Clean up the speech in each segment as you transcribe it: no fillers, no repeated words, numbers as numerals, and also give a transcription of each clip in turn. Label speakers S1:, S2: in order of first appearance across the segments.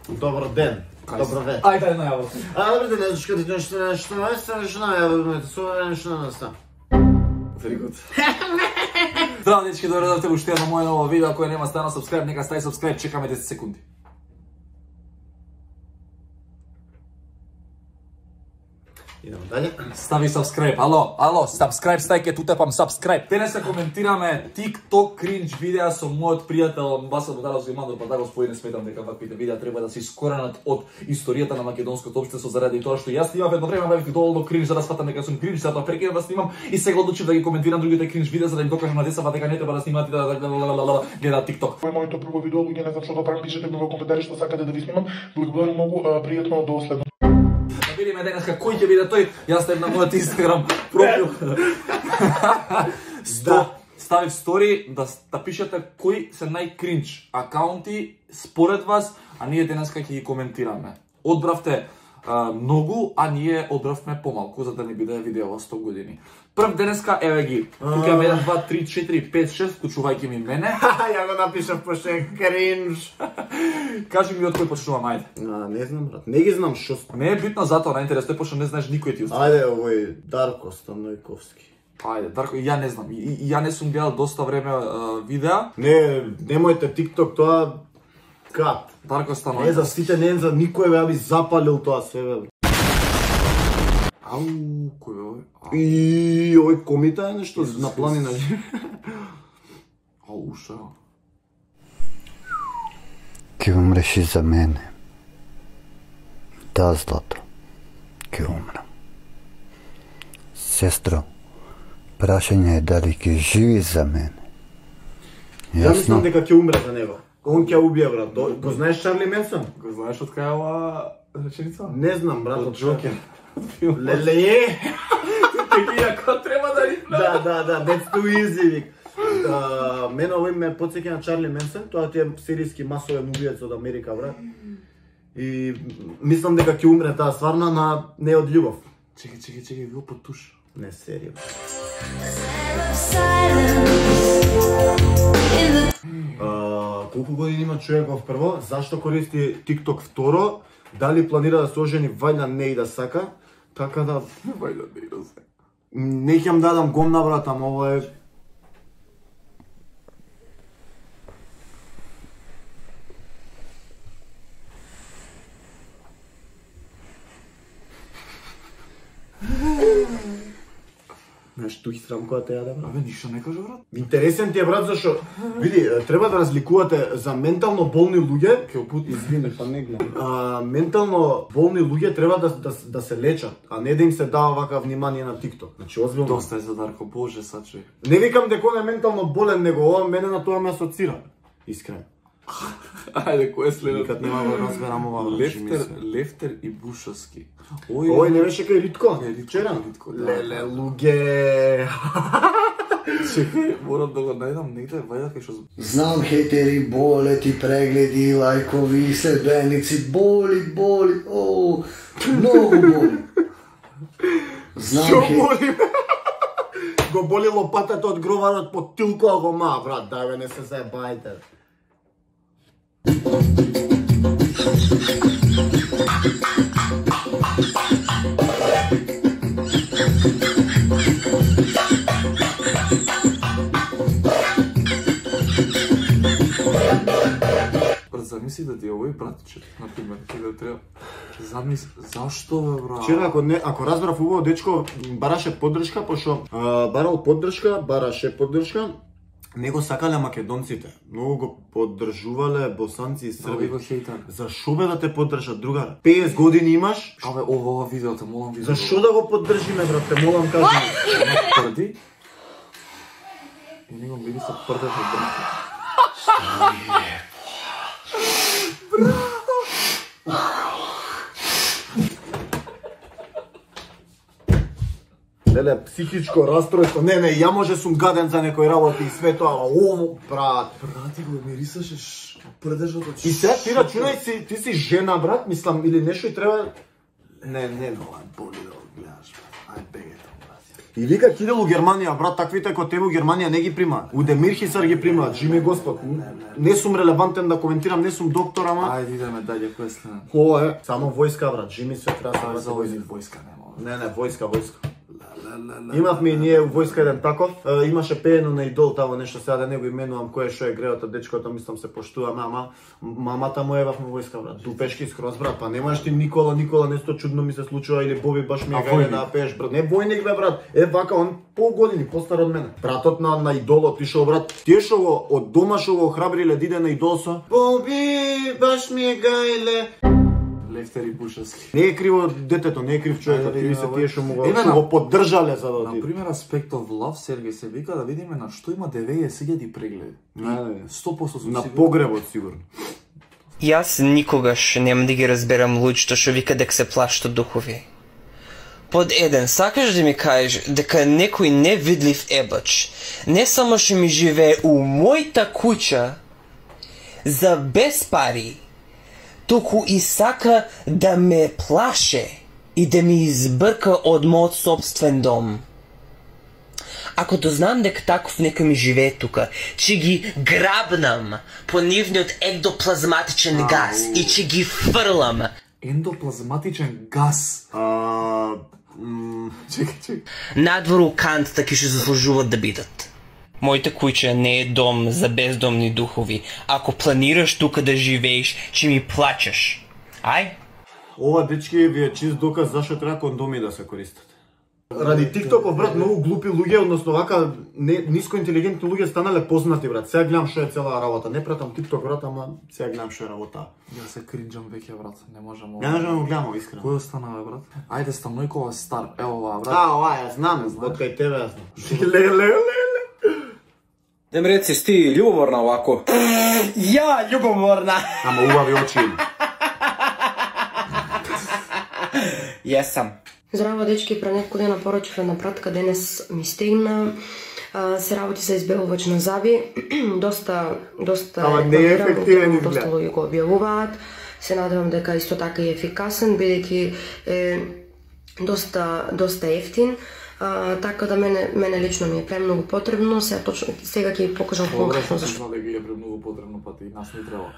S1: Добро ден. Добро вечер.
S2: Ајде најаво.
S1: Добро ден, нешто
S2: Very good. Здраво, дечки, добре дојдовте во уште едно моје ново видео. Кој нема стана subscribe, нека стави subscribe, чекаме 10 секунди.
S1: Идемо дале.
S2: Стави subscribe. Ало, subscribe, стајке, ту тепам subscribe. Денеска коментираме TikTok кринж видеа со мојот пријател Басел Бударов Зимандор, па да господине, сметам дека ваквите видеа треба да се искоренат од историјата на македонското општество заради тоа што јас снимав едно време бев доволно кринж за да сфатам дека сум кринж, затоа прекинав да снимам и сега одлучив да ги коментирам другите кринж видеа за да им докажам на децата дека не треба да снимаат и да гледаат TikTok.
S3: Ова е моето прво видео, луѓе, не знам што да правам, пишете ми во коментари што сакате да ви снимам. Благодарам многу, пријатно до следно.
S2: Да видиме денеска кој ќе биде тој. Јас ставив на мојот Инстаграм профил. Ставив стори да пишете кои се најкринч акаунти според вас, а ние денеска ќе ги коментираме. Одбравте многу, а ние одбравме помалку за да не биде видео 100 години. Прв денеска еве ги. Тука имаме 1 2 3 4 5 6 вклучувајќи ми мене.
S1: Ја го напишав пошто е кринж.
S2: Кажи ми од кој почнувам, ајде.
S1: Не знам, брат. Не ги знам што.
S2: Не е битно затоа, најинтересно е пошто не знаеш никој ти остава.
S1: Ајде, овој Дарко Станојковски.
S2: Ајде, Дарко, ја не знам. Ја не сум гледал доста време видеа.
S1: Не, немојте TikTok, тоа кат.
S2: Дарко Станојковски.
S1: Не за сите, не за никој, бе, би запалил тоа све, бе.
S2: Ау, кој е овој?
S1: И овој комита е нешто на планина.
S2: Ау, шо?
S4: Ке умреш и за мене. Да, злато. Ке умрам. Сестро, прашање е дали ке живи за мене.
S1: Ја мислам дека ќе умре за него. Он ќе убие, брат. Го знаеш Чарли Менсон?
S2: Го знаеш од кај е ова реченица?
S1: Не знам, брат.
S2: Од Джокер.
S1: Леле.
S2: Текија кој треба да рипна.
S1: Да, that's too easy, вик. Мене овој ме потсеќа на Чарли Менсон, тоа ти е сиријски масовен убиец од Америка, брат. И мислам дека ќе умре таа стварна, на не од љубов.
S2: Чекај, го потуш.
S1: Не, серијно. Колку години има човеков прво? Зашто користи TikTok второ? Дали планира да се ожени? Вајда не и да сака. Така да...
S2: Вајда не и да сака.
S1: Не ќе дадам гомна, брат, ама ова е... Знаеш, тук срам која те јаде, брат?
S2: Абе, ништо не кажа, брат.
S1: Интересен ти е, брат, зашо... Види, треба да разликувате за ментално болни луѓе...
S2: Ке опути.
S1: Извини, па не гледам. Ментално болни луѓе треба да се лечат, а не да им се дава вака внимание на TikTok. Значи, озбилно.
S2: Доста е за Дарко, боже, саче.
S1: Не викам дека он е ментално болен, него ова мене на тоа ме асоцира. Искрено.
S2: Ајде, кој е следот?
S1: Никад нема го разберам ова.
S2: Лефтер и Бушовски.
S1: Ој не беше кај Литко?
S2: Вчера?
S1: Леле, луѓе.
S2: Чекај, морам да го најдам негде, вајда кај што...
S4: Знам хейтери, болети, прегледи, лајкови, следбеници, боли, о, многу боли.
S1: Што боли? Го боли лопатата од гроварот под тилко, го ма, брат, дај бе, не се заебајте.
S2: Брат, замисли да ти е овој братче, например, да треба... Замисли, зашто бе, брат?
S1: Вчера, ако разбрав убаво, дечко бараше поддршка, пошто бараше поддршка, него сакале македонците. Многу го поддржувале босанци и срби.
S2: Го хейтар.
S1: Зашо бе да те поддржат, другар? 50 години имаш?
S2: Абе, ова видео, те молам видео.
S1: Зашо да го поддржиме, брат, те молам, кажи ми.
S2: Ама прди? И него биде се прдев од брат.
S1: Леле, психичко расстройство. Не, ја може сум гаден за некој работи и све тоа, ово, брат.
S2: Брати, го мирисаш прдежот од...
S1: И сега ти рачунај си, ти си жена, брат, мислам, или нешто и треба... Не,
S2: ова боли да го гледаш, брат. Ај, беге тоа, брат.
S1: И вика ќе иде у Германија, брат, таквите кои тебе у Германија не ги примаат. У Демир Хисар ги примаат, жими Господ. Не сум релевантен да коментирам, не сум доктор, ама...
S2: Ајде идеме дале, кој е следен?
S1: Ова е, само војска, брат, жими се треба
S2: За овој војска нема.
S1: Не, војска. Имавме и ние у војска еден таков, имаше пеено на Идол тамо нешто, сега да не го именувам кој е што е греото, дечкото мислам се поштува, ама мамата му евавме војска, брат. Дупешки скроз, брат, па немаш ти Никола, нешто чудно ми се случува или Боби баш ми е гајле да пееш, брат. Не војник бе, брат. Вака он пол години постар од мене. Братот на Идол отишол, брат. Тие што го од дома што го охрабриле да иде на Идол со Боби баш ми е гајле.
S2: Лефтери Бушевски.
S1: Не е криво детето, не е крив човекот, или се тие што му го поддржале за да оди.
S2: Например, Aspect of Love, Сергеј се вика да видиме на што има 90.000 прегледи. 100% сум
S1: на
S2: сигурен.
S1: погребот сигурно.
S5: Јас никогаш нема да ги разберам луѓето што вика дека се плашат духови. Под еден, сакаш да ми кажеш дека некој невидлив ебач не само што ми живее у мојта куќа за без пари, туку и сака да ме плаше и да ми избрка од мојот собствен дом. Ако дознам дека таков некој ми живее тука, ќе ги грабнам по нивниот ектоплазматичен газ и ќе ги фрлам.
S2: Ендоплазматичен газ. Чекај.
S5: Надвор у кантата ќе се заслужуваат да бидат. Мојата куќа не е дом за бездомни духови. Ако планираш тука да живееш, ќе ми плачеш. Ај?
S1: Ова, дечки, ви е чист доказ зашто треба кондоми да се користат. Ради TikTokов, брат, многу глупи луѓе, односно вака ниско интелигентни луѓе станале познати, брат. Сега гледам што е цела работа. Не пратам TikTok, брат, ама сега гледам што е работа.
S2: Ја се кринџам веќе, брат. Не можам.
S1: Не можам да го гледам, искрено.
S2: Кој остана, бе, брат? Ајде, Станојкова стар. Ево ова, брат.
S1: Ова, ја знам, од кај тебе ја знам. Леле.
S6: Дем реци, си ти љубоморна овако?
S5: Ја, љубоморна!
S1: Ама убави очи.
S5: Јесам.
S7: Здраво, дечки, пред неколку дена поручив една пратка, денес ми стигна. Се работи за избелувач на заби. доста
S1: Ама не е ефективен изглед.
S7: Доста луѓе го објавуваат. Се надевам дека исто така е ефикасен, бидејќи е доста ефтин. Така да мене лично ми е премногу потребно. Сега ќе ви покажам конкретно зашто.
S2: Добре, ги е премногу потребно, па и нас не треба.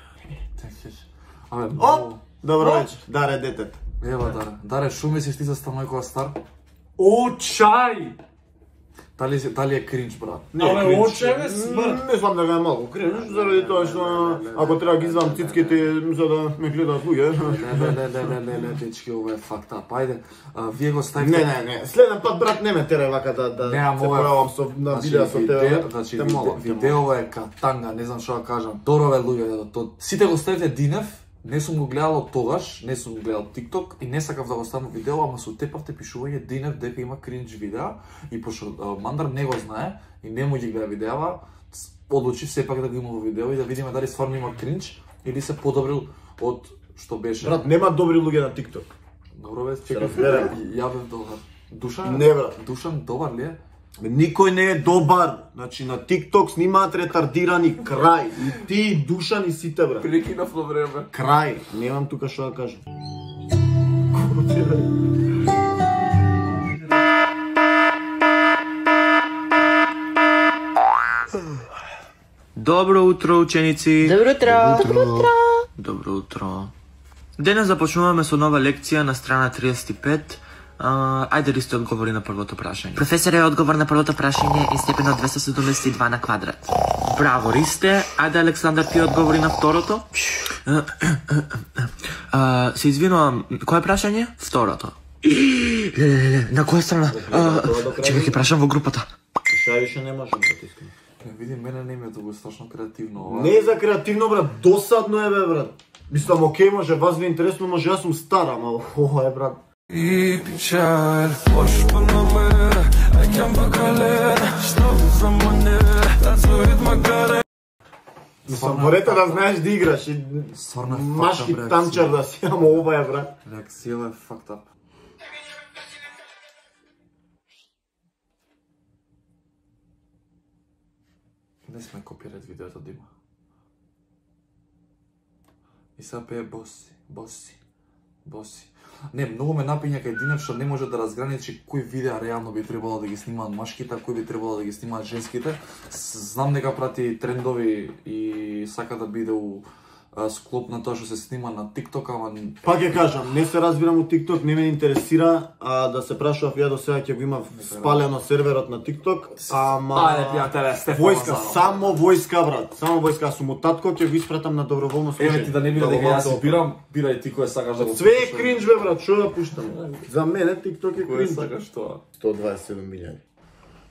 S2: Абе,
S1: Оп! Добро вечер. Даре детето.
S2: Ева, Даре, шо мислиш ти за Станојкова стар?
S6: О, чај!
S2: Дали е кринч, брат?
S6: Абе, оче ме смрт.
S1: Мислам дека е малку кринч, заради тоа што ако треба ги извам цицките за да ме гледаат луѓе.
S2: Не, дечки, ова е факта. Ајде, вие го ставите...
S1: Не. Следен пат, брат, не ме тере вака да се појавам на видео со тебе.
S2: Значи, видео е катанга, не знам што да кажам. Дорове луѓе, сите го ставите Динев. Не сум го гледал од тогаш, не сум го гледал TikTok и не сакав да го ставам видео, ама со тепавте пишување Динев дека има кринч видеа и пошто Мандар не го знае и не му ги гледа видеава, одлучив сепак да го има во видео и да видиме дали стварно има кринч или се подобрил од што беше.
S1: Брат, нема добри луѓе на TikTok.
S2: Добро бе,
S1: разберам.
S2: Ја бев добар. Душан?
S1: Не, брат.
S2: Душан добар ли е?
S1: Никој не е добар. Значи на TikTok снимаат ретардирани, крај. И ти, и Душан, и сите, брат.
S2: Прекинав на време.
S1: Крај. Немам тука што да кажам.
S8: Добро утро, ученици!
S5: Добро утро!
S8: Добро утро! Денес започнуваме со нова лекција на страна 35. Ајде Ристо одговори на првото прашање.
S5: Професоре, одговор на првото прашање е степен од 272 на квадрат.
S8: Браво, Ристе. Ајде Александар ти одговори на второто. Се извинувам, кое прашање? Второто. На која страна? Чекај, ќе прашам во групата.
S1: Шај више не можам да тискам.
S2: Не види, мене не ми е толку страшно креативно ова.
S1: Не е за креативно, брат, досадно е, бе, брат. Мислам, окей, може, вас ви е интересно, може, јас сум стар, ама ова е, брат.
S9: И печаль, можешь по номер, а я поколен, что за манер, танцует Макарен.
S1: Мислам, морете да знаеш да играш и машки танчар да си, ама ова е, брат.
S2: Реакцијава е fucked up. Не сме копират видеото Дима. И сега пее боси. Не, многу ме напиња кај Динев што не може да разграничи кои видеа реално би требало да ги снимаат машките, кои би требало да ги снимаат женските. Знам дека прати трендови и сака да биде у склоп на тоа што се снима на TikTok, ама
S1: Пак ќе кажам, не се разбирам од TikTok, не ме интересира, да се прашував ја до сега ќе го има спалено серверот на TikTok, ама
S2: Ајде пријателе, Стефан
S1: војска,
S2: Лазаров.
S1: само војска брат, само војска, сум у татко ќе го испратам на доброволно служење.
S2: Еве ти да не биде дека јас си бирам, бирај ти кој сакаш да го
S1: Све е кринж бе брат, што да пуштам? За мене TikTok е
S2: кој
S1: кринж.
S2: сакаш тоа.
S1: 127.000.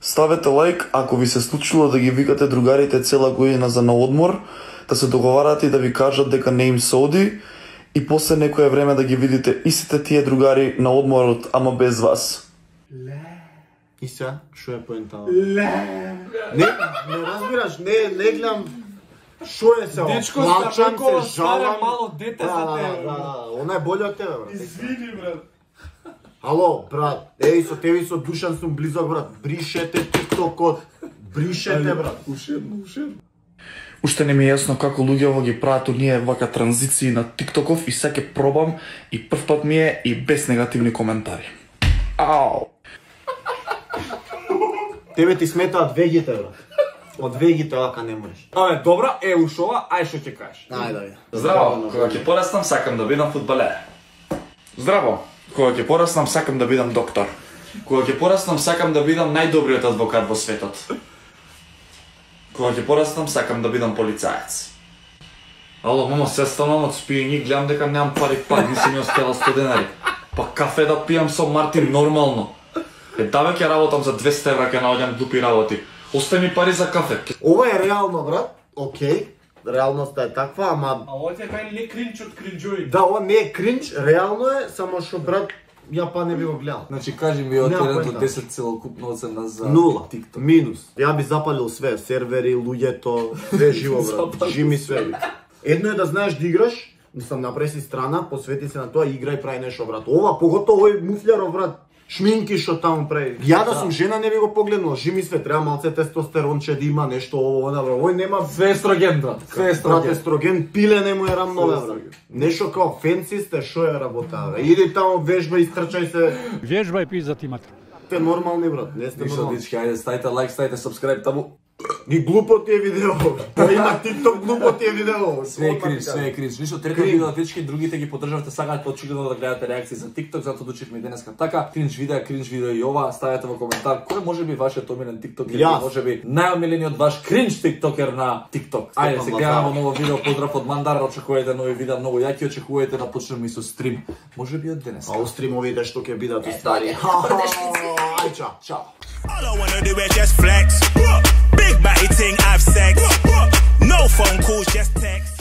S10: Ставете лайк ако ви се случило да ги викате другарите цела година за на одмор, да се договарате и да ви кажат дека не им се оди и после некое време да ги видите истите тие другари на одморот, ама без вас.
S1: И сега, што е поентава? Не разбираш, не гледам што е се,
S2: Дечко,
S1: плачам
S2: Стапекова,
S1: се, жалам.
S2: мало дете за тебе.
S1: Она е боле од тебе, брат.
S2: Извини, брат.
S1: Ало, брат, еј со тебе и со Душан сум близок, брат. Бришете TikTok-от. Бришете, брат.
S2: Ушедно.
S10: Уште не ми е јасно како луѓето ги прават оние вака транзиции на TikTok-ов и сега ќе пробам и прв пат ми е и без негативни коментари. Ау!
S1: Тебе ти сметаат вегите, брат. Од вегите вака не можеш.
S2: Абе, добра, ушова, ај што ќе кажеш.
S1: Ајде,
S10: Здраво, кога ќе пораснам сакам да бидам фудбалер. Здраво, кога ќе пораснам сакам да бидам доктор. Кога ќе пораснам сакам да бидам најдобриот адвокат во светот. Кога ќе пораснам сакам да бидам полицаец. Ало, мамо, се станам од спиење, гледам дека немам пари, не си ми остела 100 денари. Па кафе да пијам со Мартин нормално. Даве ќе работам за 200 евра, ќе наоѓам глупи работи. Остави ми пари за кафе.
S1: Ова е реално, брат. Океј. Реалноста е таква, ама
S2: А ова ти е кај не кринч од кринџови.
S1: да, ова не е кринч, реално е, само што брат ја па не би го гледал.
S2: Значи кажи ми од
S1: Нема
S2: 1 до
S1: поента.
S2: 10 целокупно оцена за
S1: Нула,
S2: TikTok.
S1: минус. Ја би запалил све, сервери, луѓето, све живо, брат. Жими све. Едно е да знаеш да играш, мислам направи си страна, посвети се на тоа, играј, прави нешто, брат. Ова, поготово овој муфљаров, брат, шминки што таму прави. Ја да сум жена не би го погледнал, жими све, треба малце тестостеронче да има нешто ово, она, брат. Овој нема
S2: Све естроген, брат. Све
S1: брат,
S2: естроген.
S1: естроген, пиле не му е рамнове, брат. Нешто као фенси сте, шо е работа, бе. Иди таму вежба, истрчај се.
S11: Вежба и пизат имате.
S1: Сте нормални, брат, не сте
S2: Ништо,
S1: нормални.
S2: дечки, ајде, ставите лайк, ставите subscribe таму.
S1: И глупо ти е видео. Па има TikTok, глупо ти е видео.
S2: Све е кринж, све е кринж. Ништо, трето
S1: Кринж.
S2: видео, дечки, другите ги поддржавате, сакаат очигледно да гледате реакции за TikTok, затоа дучивме денеска така. Кринж видео и ова, ставете во коментар кој може би вашиот омилен TikTok или
S1: Јас.
S2: може би најомилениот ваш кринж TikToker на TikTok. Ајде,
S1: Стефан
S2: се гледаме
S1: Лазаров.
S2: ново видео, поздрав од Мандар, очекувате нови видеа, многу јаки, очекувате да почнеме и со стрим. Може би од денеска.
S1: А у стримовите што ќе бидат уствари. Ај, чао.
S2: Чао.
S12: All I wanna do is just flex. Big body ting, have sex. No phone calls, just text.